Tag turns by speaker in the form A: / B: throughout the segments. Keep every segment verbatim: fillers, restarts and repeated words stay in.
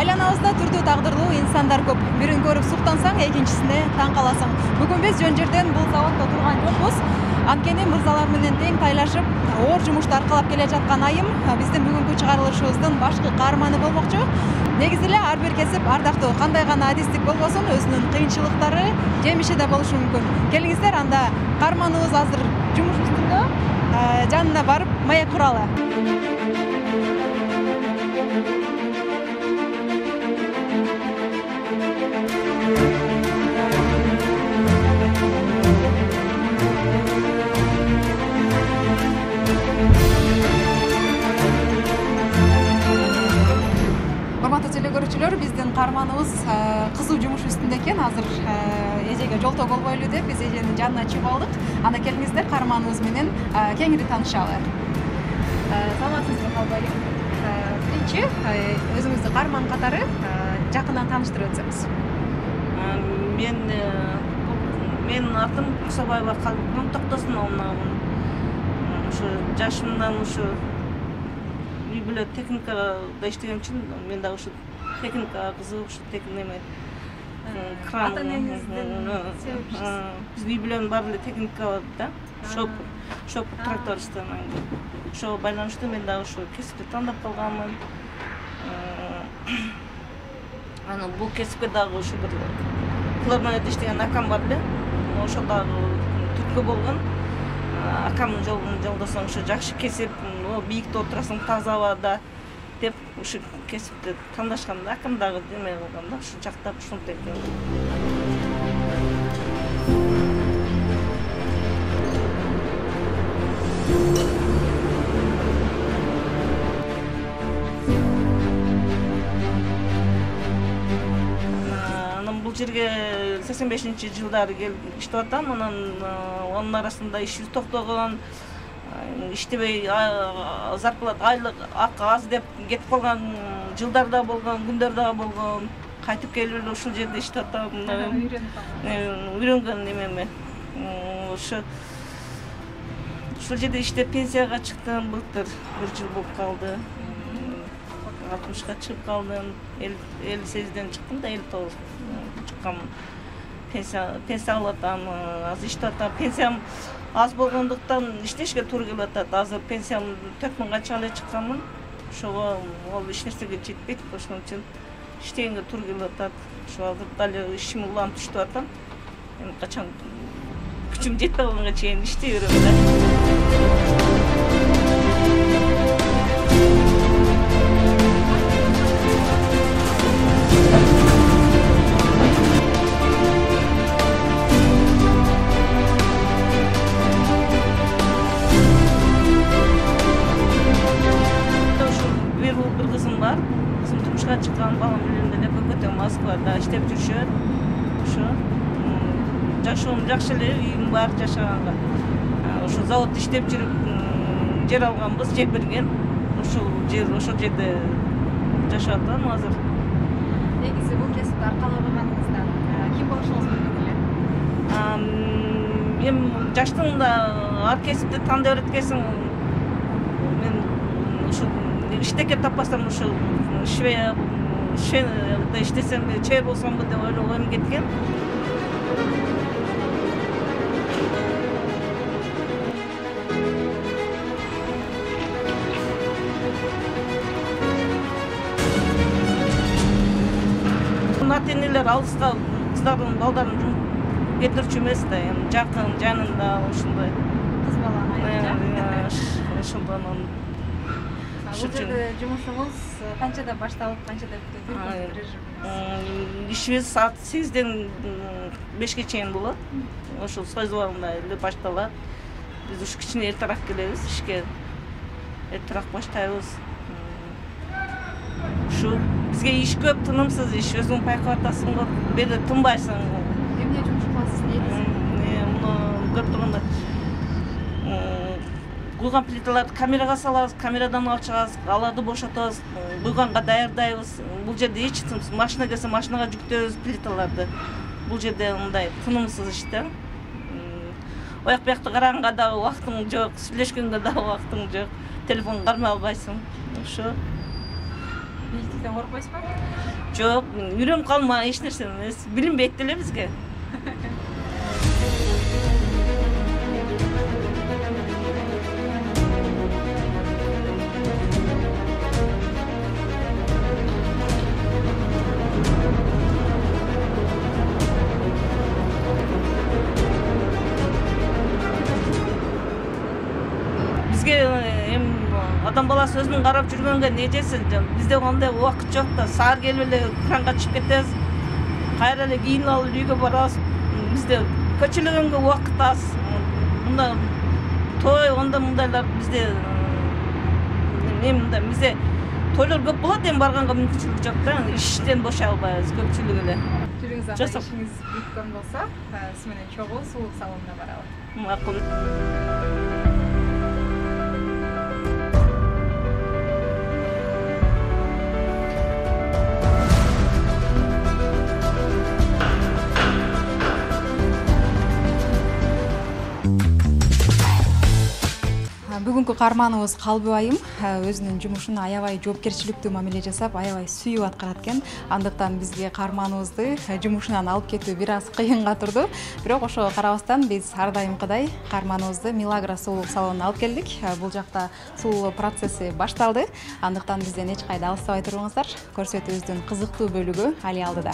A: Айланабызда түрдүү тагдырлуу инсандар көп. Бирин көрүп суктансаң, экинчисине таң каласың. Бүгүн биз жөн жерден бул заводдо турган жокпуз. Анткени мырзалар менен тең тайлашып, оор жумушту аркалап келе жаткан айым биздин бүгүнкү чыгарылышыбыздын башкы каарманы болмокчу. Негизи эле ар бир кесип ардактуу, кандай гана адистик болбосун, өзүнүн кыйынчылыктары, жемиши да болушу мүмкүн. Келиңиздер, анда каарманыбыз азыр жумуш үстүндө. Жанына барып маек куралы. Урматтуу телекөрүүчүлөр, биздин каарманыбыз кызуу жумуш үстүндө экен. Азыр эжеге жолтоо болбойлу деп биз эженин жанына чыгып алдык. Анда келиңиздер, каарманыбыз менен кеңири таанышалы. Саламатсызбы, Калбай? Биринчи өзүңүздү каарман катары жакындан тааныштырып өтсөңүз.
B: Мен менин атым Кусабаева Калбай Токтосуновна. Ушу жашымдан ушу үй бүлө техникада иштеген үчүн мен дагы ушу техникага кызыгып, ушу неме кран.
A: Ата энеңиздин себепчиси.
B: Биздин үй бүлөнүн баары эле техника да. Шопур, шопур трактористтен. Ошого байланыштуу мен дагы ушу кесипти тандап калганмын. Анан бул кесипке дагы ушу бир Клармонет иштеген акам бар эле. Ошо дагы түрткү болгон. Акамдын жолун жолдосоң ушу жакшы кесип, бийикте отурасың, таза абада деп ушу кесипти тандашканда, акам дагы неме кылган да, ушу жактап ушинтип экен. Бул жерге сексен бешинчи жылдары келип иштеп атам. Анан анын арасында ишибиз токтогон, иштебей зарплата, айлык акы аз деп кетип калган жылдар да болгон, күндөр да болгон. Кайтып келип эле ушул жерде иштеп атам. Үйрөнгөн немеме. Ошо ушул жерде иштеп пенсияга чыктым. Былтыр бир жыл болуп калды. алтымышка чыгып калдым. элүү сегизден чыктым да, элүү тогуз чыккам. Пенсия пенсия алып атам, азыр иштеп атам. Пенсиям аз болгондуктан иштешке туура келип атат. Азыр пенсиям төрт миңга чыга эле чыкканмын. Ошого ол эч нерсеге жетпейт, ошон үчүн иштегенге туура келип атат. Ошо азыр дали ишим уланып иштеп атам. Эми качан күчүм жетпей калганга чейин иштей берем да. Turmuşka çıkan balam bilen эле көтөң Москвада иштеп жүрүшөт. Ошо жашоом жакшы эле, үйүм бар жашаганга. Ошо заводдо иштеп жүрүп жер алганбыз, жер берген. Ошол жер, ошол жерде жашап атам азыр.
A: Негизи бул кесипти аркалаганыңыздан ким болушуңуз мүмкүн эле?
B: Мен жаштыгымда ар кесипти тандап эткенсиң, мен ушу иштеке таппасам ушу швея швеяда иштесем, чебер болсомбу деп ойлогом кеткен. Ата энелер алыска кыздардын, балдарын кетирчү эмес да, эми жакын, жанында ушундай
A: кыз баланы.
B: Ошондон
A: Бул жерде жумушуңуз канчада башталып, канчада бүтөт?
B: Ишибиз саат сегизден бешке чейин болот. Ошол союзбалында эле башталат. Биз ушу кичине эртерээк келебиз ишке. Эртерээк баштайбыз. Ушу бизге иш көп, тынымсыз иш. Өзүң байкап атасың го, бери тынбайсың.
A: Эмне жумуш кыласыз, негизи?
B: Муну көрүп турганда куйган плиталарды камерага салабыз, камерадан алып чыгабыз, аларды бошотобуз, куйганга даярдайбыз. Бул жерде эч тынымсыз, машина келсе машинага жүктөбүз плиталарды. Бул жерде мындай тынымсыз иш да. Ояк буякты караганга дагы убактың жок, сүйлөшкөнгө дагы убактың жок. Телефон кармай албайсың. Ошо.
A: Бийликтен коркпойсузбу?
B: Жок, үйрөнүп калма эч нерсе эмес. Билинбейт деле бизге. Бизге эми адам баласы өзүнүн карап жүргөнгө не жесин? Бизде андай убакыт жок да. Саар келип эле кранга чыгып кетебиз. Кайра эле кийинип алып үйгө барабыз. Бизде көчөлөгөнгө убакыт аз. Мында той, онда мындайлар бизде эми мында бизде тойлор көп болот, эми барганга мүмкүнчүлүк жок да. Иштен бошой албайбыз көпчүлүк эле.
A: Жүрүңүз анда ишиңиз бүткөн болсо, сиз менен чогуу сулук салонуна барабыз.
B: Макул.
A: Бүгүнкү каарманыбыз Калбы айым өзүнүн жумушун аябай жоопкерчиликтүү мамиле жасап, аябай сүйүп аткарат экен. Андыктан бизге каарманыбызды жумушунан алып кетүү бир аз кыйынга турду. Бирок ошого карабастан биз ар дайымкыдай каарманыбызды Милагра сулуулук салонуна алып келдик. Бул жакта сулуулоо процесси башталды. Андыктан бизден эч кайда алыстабай туруңуздар. Көрсөтүүбүздүн кызыктуу бөлүгү али алдыда.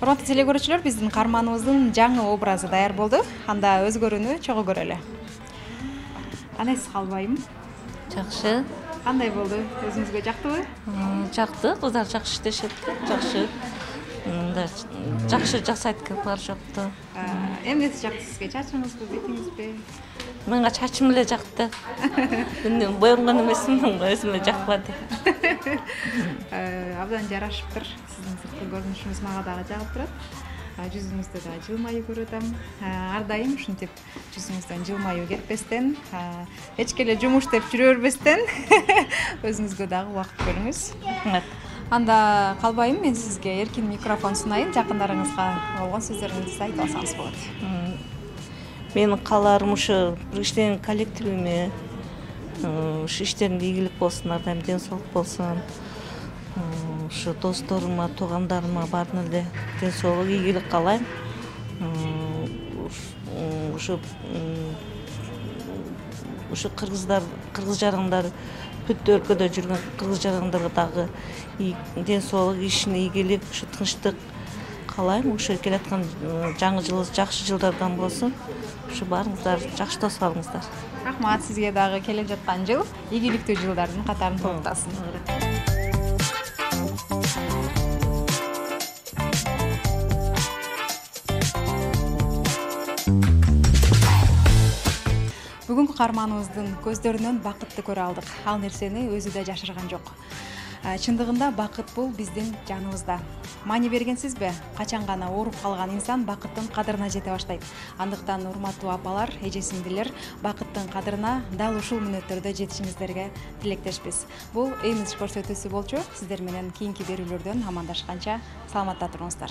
A: Урматтуу телекөрүүчүлөр, биздин каарманыбыздын жаңы образы даяр болду. Анда өзгөрүүнү чогуу көрөлү. Кандайсыз Калбайым?
C: Жакшы.
A: Кандай болду? Өзүңүзгө жактыбы?
C: Жакты, кыздар жакшы иштешет, жакшы. Мындай жакшы жасайт экен, бар жокту.
A: Эмнеси жакты сизге? Чачыңызбы, бетиңизби?
C: Мага чачым эле жакты. Мен боёнгон эмесмин, өзүмө жакпады.
A: Абдан жарашыптыр. Сиздин сырткы көрүнүшүңүз мага дагы жагып турат. Жүзүңүздө да жылмаюу көрүп атам. Ар дайым ушинтип жүзүңүздөн жылмаюу кетпестен, эчке эле жумуш деп жүрө бербестен өзүңүзгө дагы убакыт бөлүңүз. Анда Калбайым, мен сизге эркин микрофон сунайын, жакындарыңызга болгон сөздөрүңүздү айтып алсаңыз болот.
C: Менин кааларым ушу иштеген коллективиме ушу иштеринде ийгилик болсун, ар дайым ден соолук болсун. Ушу досторума, туугандарыма баарына эле ден соолук, ийгилик каалайм. Ушу ушу кыргыздар, кыргыз жарандар, бүт өлкөдө жүргөн кыргыз жарандарга дагы ден соолук, ишине ийгилик, ушу тынчтык каалайм. Ушу келаткан жаңы жылыбыз жакшы жылдардан болсун. Ушу баарыңыздар жакшы дос болуңуздар.
A: Рахмат, сизге дагы келе жаткан жыл ийгиликтүү жылдардын катарын толуктасын. Бүгүнкү каарманыбыздын көздөрүнөн бакытты көрө алдык. Ал нерсени өзү да жашырган жок. Чындыгында бакыт бул биздин жаныбызда. Маани бергенсизби? Качан гана ооруп калган инсан бакыттын кадырына жете баштайт. Андыктан урматтуу апалар, эже-сиңдилер, бакыттын кадырына дал ушул мүнөттөрдө жетишиңиздерге тилектешпиз. Бул имидж көрсөтүүсү болчу. Сиздер менен кийинки берүүлөрдөн амандашканча саламатта туруңуздар.